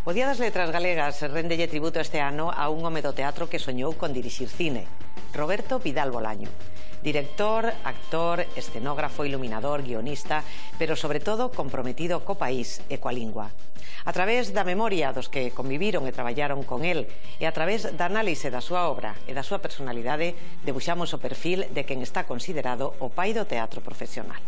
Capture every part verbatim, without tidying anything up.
O Día das Letras Galegas rendelle tributo este ano a un home do teatro que soñou con dirixir cine, Roberto Vidal Bolaño. Director, actor, escenógrafo, iluminador, guionista, pero sobre todo comprometido co país e coa lingua. A través da memoria dos que conviviron e traballaron con el e a través da análise da súa obra e da súa personalidade debuxamos o perfil de quen está considerado o pai do teatro profesional.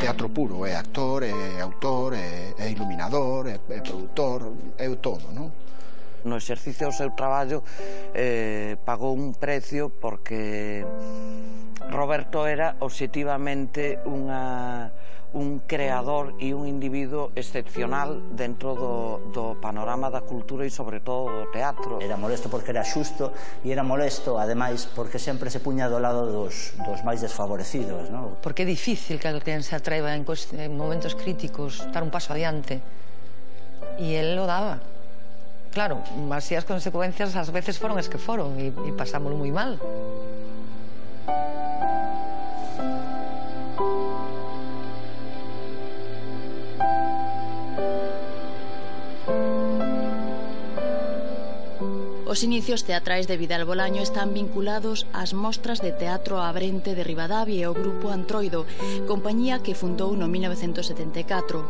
Teatro puro, é actor, é autor, é, é iluminador, é, é produtor, é o todo, non? No exercicio do seu traballo eh, pagou un precio porque Roberto era obxectivamente unha, un creador e un individuo excepcional dentro do, do panorama da cultura e sobre todo do teatro. Era molesto porque era xusto e era molesto, ademais, porque sempre se puña do lado dos, dos máis desfavorecidos, non? Porque é difícil que alguén se atreva en, en momentos críticos dar un paso adiante e el lo daba. Claro, así as consecuencias ás veces foron as que foron e, e pasámoslo moi mal. Os inicios teatrais de Vidal Bolaño están vinculados ás mostras de teatro Abrente de Ribadavia e ao grupo Antroido, compañía que fundou no mil novecentos setenta e catro.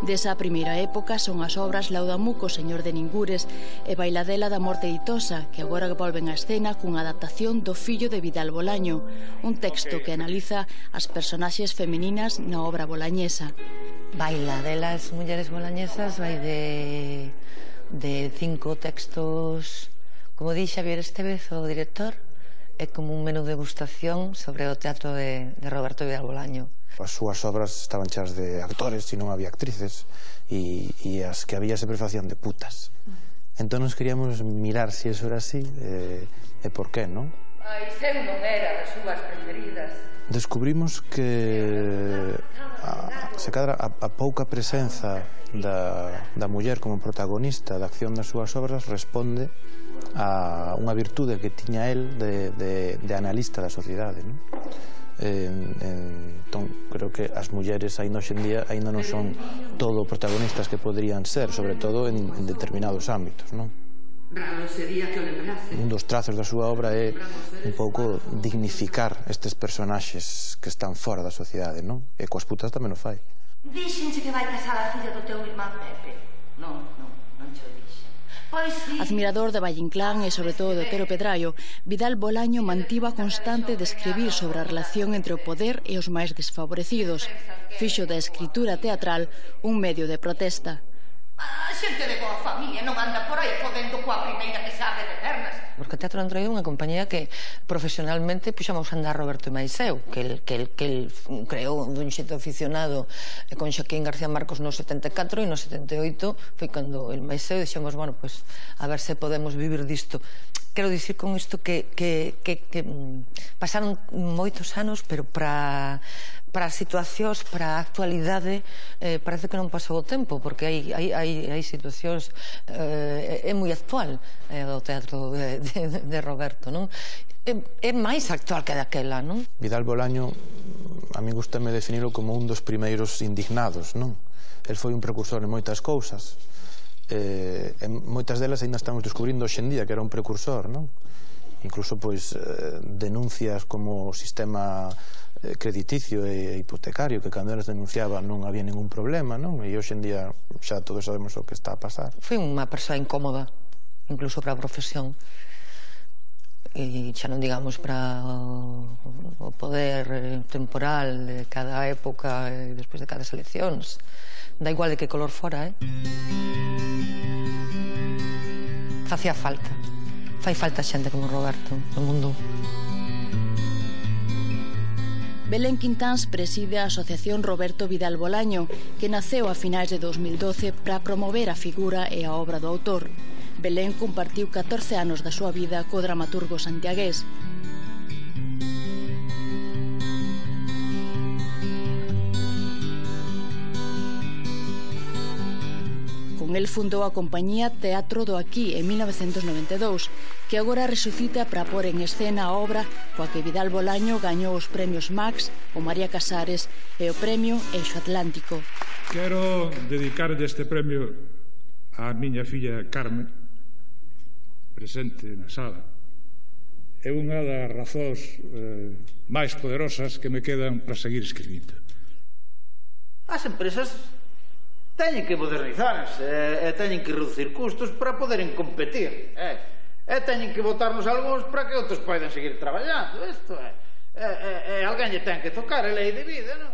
Desa primeira época son as obras Laudamuco, Señor de Ningures e Bailadela da Morte Ditosa, que agora volven á escena cunha adaptación do fillo de Vidal Bolaño, un texto que analiza as personaxes femininas na obra bolañesa. Bailadela das mulleres bolañesas vai de, de cinco textos. Como di Xavier Estevez, o director, é como un menú de degustación sobre o teatro de, de Roberto Vidal Bolaño. As súas obras estaban chas de actores e non había actrices e, e as que había sempre facían de putas. Entón nos queríamos mirar se eso era así e, e por qué, non? Ai, seu non era das súas preferidas. Descubrimos que a, se cadra a, a pouca presenza da, da muller como protagonista da acción das súas obras responde a unha virtude que tiña el de, de, de analista da sociedade, non? En, en, entón, creo que as mulleres aínda hoxendía aínda non son todo protagonistas que poderían ser, sobre todo en, en determinados ámbitos, non? Un dos trazos da súa obra é un pouco dignificar estes personaxes que están fora da sociedade, non? E coas putas tamén o fai. Díxenche que vai casar a filla do teu irmán Pepe. Non, non, non che o dixen. Admirador de Valle Inclán e sobre todo de Pero Pedraio, Vidal Bolaño mantivo a constante de escribir sobre a relación entre o poder e os máis desfavorecidos. Fixo da escritura teatral un medio de protesta. A xente de boa familia non anda por aí podendo coa primeira que sabe de pernas. Porque o Teatro Antroido é unha compañía que profesionalmente puxamos a andar Roberto e Maiseu, que el, que el, que el creou dun xeito aficionado con Xaquín García Marcos no setenta e catro e no setenta e oito foi cando el Maiseu dixemos, bueno, pues, a ver se podemos vivir disto. Quero dicir con isto que, que, que, que pasaron moitos anos, pero para para as situacións, para a actualidade, eh, parece que non pasou o tempo, porque hai, hai, hai, hai situacións, eh, é moi actual eh, o teatro de, de, de Roberto, non? É, é máis actual que daquela, non? Vidal Bolaño, a mí gustame definirlo como un dos primeiros indignados, non? El foi un precursor en moitas cousas, eh, en moitas delas ainda estamos descubrindo hoxendía que era un precursor, non? Incluso, pois, eh, denuncias como o sistema crediticio e hipotecario, que cando eles denunciaban non había ningún problema, non? E hoxendía xa todos sabemos o que está a pasar. Foi unha persoa incómoda, incluso para a profesión, e xa non digamos para o poder temporal de cada época e despois de cada eleccións. Da igual de que color fora, eh? Facía falta. Fai falta xente como Roberto no mundo. Belén Quintáns preside a Asociación Roberto Vidal Bolaño, que naceu a finais de dos mil doce para promover a figura e a obra do autor. Belén compartiu catorce anos da súa vida co dramaturgo santiagués. Con el fundou a compañía Teatro do Aquí en mil novecentos noventa e dous, que agora resucita para pôr en escena a obra coa que Vidal Bolaño gañou os premios Max, o María Casares e o premio Eixo Atlántico. Quero dedicar este premio a miña filla Carmen, presente na sala, é unha das razóns eh, máis poderosas que me quedan para seguir escribindo. As empresas teñen que modernizarse e, e teñen que reducir custos para poderem competir. E, e teñen que botarnos algúns para que outros poidan seguir traballando. Isto é, é, é, é alguén lle ten que tocar a lei de vida, non?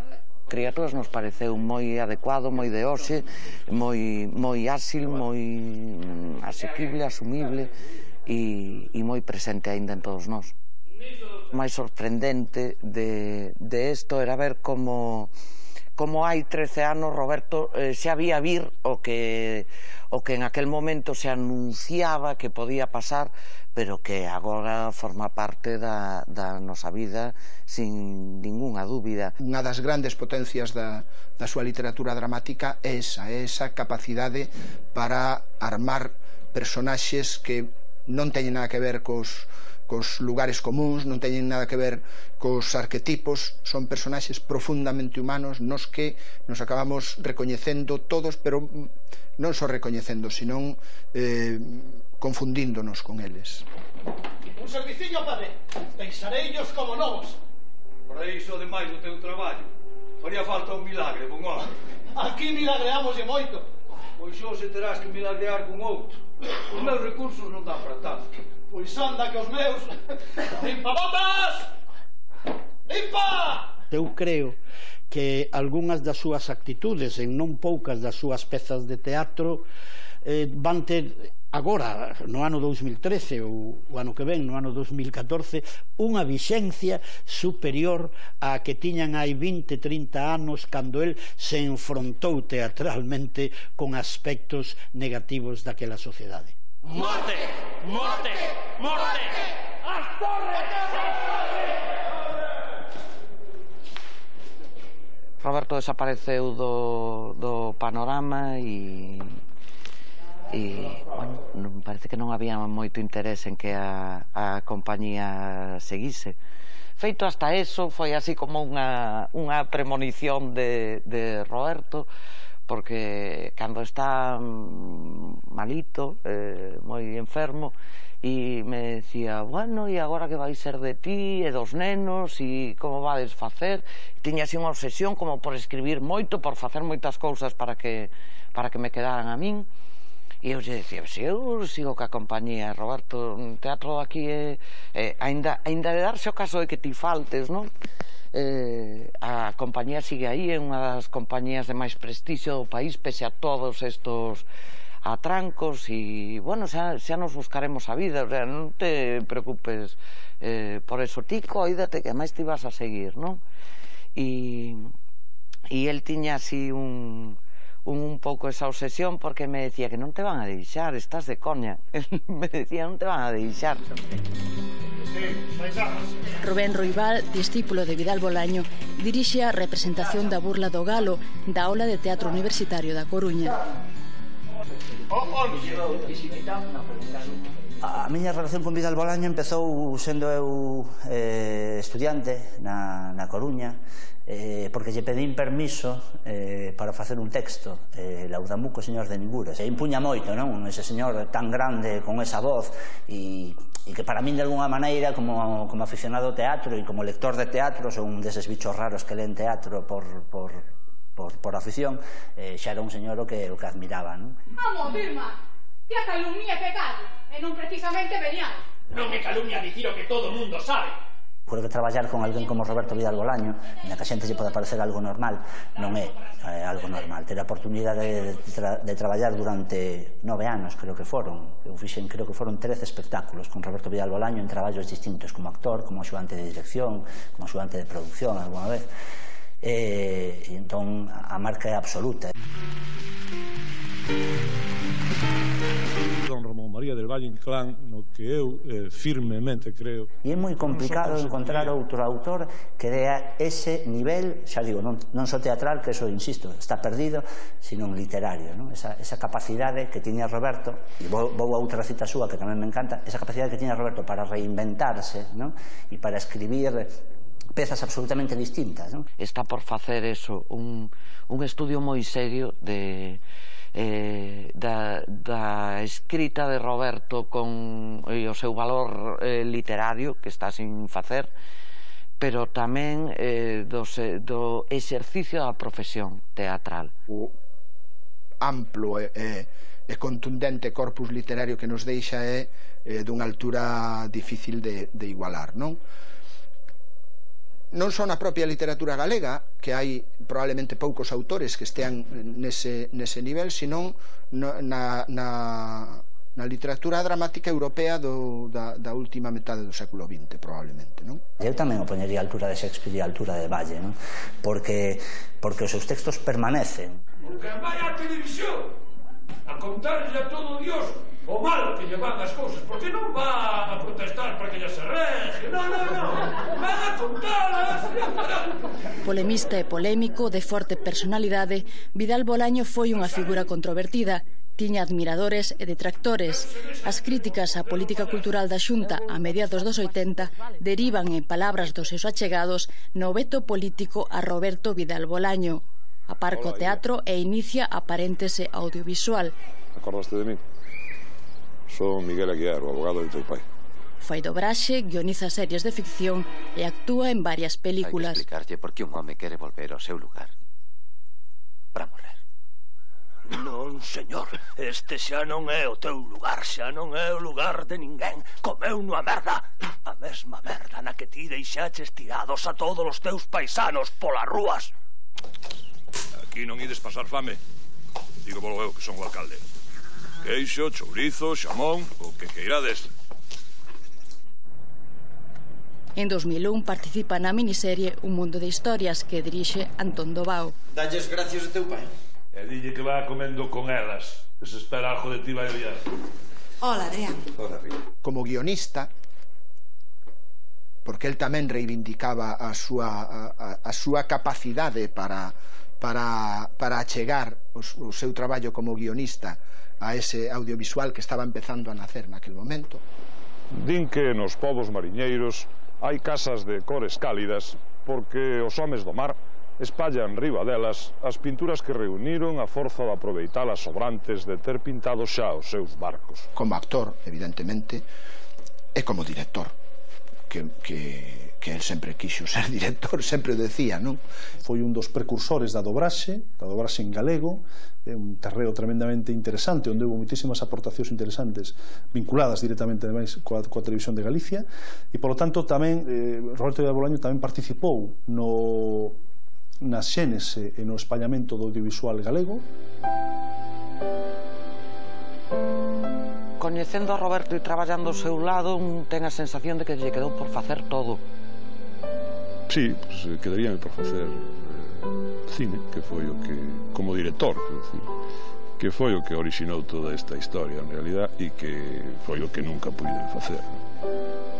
Criaturas nos pareceu moi adecuado, moi de hoxe, moi, moi áxil, moi asequible, asumible e, e moi presente aínda en todos nós. O máis sorprendente de, de isto era ver como, como hai trece anos Roberto eh, xa había vir o que, o que en aquel momento se anunciaba que podía pasar, pero que agora forma parte da, da nosa vida sin ningunha dúbida. Unha das grandes potencias da, da súa literatura dramática é esa, é esa capacidade para armar personaxes que non teñen nada que ver cos, cos lugares comuns, non teñen nada que ver cos arquetipos, son personaxes profundamente humanos nos que nos acabamos recoñecendo todos, pero non só recoñecendo, senón eh, confundíndonos con eles. Un serviciño para ver, pensareillos como novos. Por iso, ademais do teu traballo, faría falta un milagre, bon home. Aquí milagreámoslle moito. Pois xo se terás que milagrear con outro. Os meus recursos non dan para tanto. Pois anda que os meus... Limpa botas! Limpa! Eu creo que algunhas das súas actitudes, en non poucas das súas pezas de teatro, eh, van ter agora, no ano dous mil trece ou o ano que ven, no ano dous mil catorce, unha vixencia superior á que tiñan hai vinte, trinta anos cando el se enfrontou teatralmente con aspectos negativos daquela sociedade. Morte! Morte! Morte! As torres! Roberto desapareceu do, do panorama e, e bueno, non, parece que non había moito interés en que a, a compañía seguise. Feito hasta eso, foi así como unha, unha premonición de, de Roberto, porque cando está malito, eh, moi enfermo, e me decía, bueno, e agora que vai ser de ti e dos nenos e como vades facer? Tiña así unha obsesión como por escribir moito, por facer moitas cousas para que, para que me quedaran a min. E eu lle decía, se eu sigo ca compañía, Roberto, o teatro aquí é, é ainda, ainda de darse o caso de que ti faltes, non? Eh, a compañía sigue aí, é unha das compañías de máis prestixio do país, pese a todos estos atrancos, e, bueno, xa, xa nos buscaremos a vida, o sea, non te preocupes eh, por eso, ti coídate que máis te ibas a seguir, non? E, e el tiña así un, un, un pouco esa obsesión, porque me decía que non te van a deixar, estás de coña. Me decía, non te van a deixar. Rubén Roibal, discípulo de Vidal Bolaño, dirixe a representación da Burla do Galo da Aula de Teatro Universitario da Coruña. A miña relación con Vidal Bolaño empezou sendo eu eh, estudiante na, na Coruña, eh, porque lle pedín permiso eh, para facer un texto, eh, Laudamuco, señor de Ningures. E impuña moito, non? Ese señor tan grande, con esa voz, e, e que para min, de alguna maneira, como, como aficionado ao teatro e como lector de teatro, son un deses bichos raros que leen teatro por... por Por, por afición, eh, xa era un señor o que, o que admiraba, non? Vamos, Vilma, que a calumnia é pecado, e non precisamente venial. Non me calumnia dicir o que todo mundo sabe. Creo que traballar con alguén como Roberto Vidal Bolaño, na que a xente lle pode parecer algo normal, non é eh, algo normal. Ter a oportunidade de, tra de traballar durante nove anos, creo que foron, eu fixen, creo que foron trece espectáculos con Roberto Vidal Bolaño en traballos distintos, como actor, como axudante de dirección, como axudante de producción, alguna vez. E, e entón a marca é absoluta. Don Ramón María del Valle Inclán, no que eu eh, firmemente creo. E é moi complicado encontrar outro autor que dea ese nivel, xa digo, non, non só teatral, que eso, insisto, está perdido, sino literario, non? Esa, esa capacidade que tiña Roberto, e vou, vou a outra cita súa que tamén me encanta, esa capacidade que tiña Roberto para reinventarse, non? E para escribir pezas absolutamente distintas, non? Está por facer eso, un, un estudio moi serio de, eh, da, da escrita de Roberto con e o seu valor eh, literario que está sin facer, pero tamén eh, do, do exercicio da profesión teatral. O amplo e, e, e contundente corpus literario que nos deixa é eh, dunha altura difícil de, de igualar, non? Non só na propia literatura galega, que hai probablemente poucos autores que estean nese, nese nivel, senón na, na, na literatura dramática europea do, da, da última metade do século vinte, probablemente, non? Eu tamén o poñería a altura de Shakespeare e a altura de Valle, non? Porque, porque os seus textos permanecen. Porque vai á televisión a contarlle a todo Dios o mal que lle van as cousas, porque non va a protestar para que lle se reje, non, non, non, van a contalas. Polemista e polémico, de forte personalidade, Vidal Bolaño foi unha figura controvertida. Tiña admiradores e detractores. As críticas á política cultural da Xunta a mediados dos oitenta derivan, en palabras dos seus achegados, no veto político a Roberto Vidal Bolaño. Aparca o teatro e inicia a paréntese audiovisual. Acordaste de mí? Son Miguel Aguiar, o abogado de teu pai. Fai dobraxe, guioniza series de ficción e actúa en varias películas. Hai que explicarlle por que un home quere volver ao seu lugar para morrer. Non, señor, este xa non é o teu lugar, xa non é o lugar de ninguén. Comeu nunha merda, a mesma merda na que ti deixaches tirados a todos os teus paisanos polas rúas. Aquí non ides pasar fame. Digo volo eu que son o alcalde. Queixo, chourizo, xamón, o que queirades. En dos mil un participa na miniserie Un mundo de historias que dirixe Antón Dovao. Dalles gracias a teu pai. E dille que va comendo con elas, que se espera algo de ti vai ollar. Hola, Adrián. Hola, Río. Como guionista, porque el tamén reivindicaba a súa, a, a súa capacidade para, para, para achegar o, o seu traballo como guionista a ese audiovisual que estaba empezando a nacer naquel momento. Din que nos povos mariñeiros hai casas de cores cálidas porque os homes do mar espallan riba delas as pinturas que reuniron a forza de aproveitar as sobrantes de ter pintado xa os seus barcos. Como actor, evidentemente, e como director, que, que, que el sempre quixo ser director, sempre decía, non? Foi un dos precursores da dobraxe, da dobraxe en galego, é un terreo tremendamente interesante, onde houve moitísimas aportacións interesantes vinculadas directamente ademais coa, coa televisión de Galicia, e polo tanto tamén eh, Roberto Vidal Bolaño tamén participou no na xénese e no espallamento do audiovisual galego. Coñecendo a Roberto e traballando ao seu lado, un ten a sensación de que lle quedou por facer todo. Sí, pues, quedaríame por facer eh, cine, que foi o que, como director, decir, que foi o que orixinou toda esta historia en realidad e que foi o que nunca puiden facer, ¿no?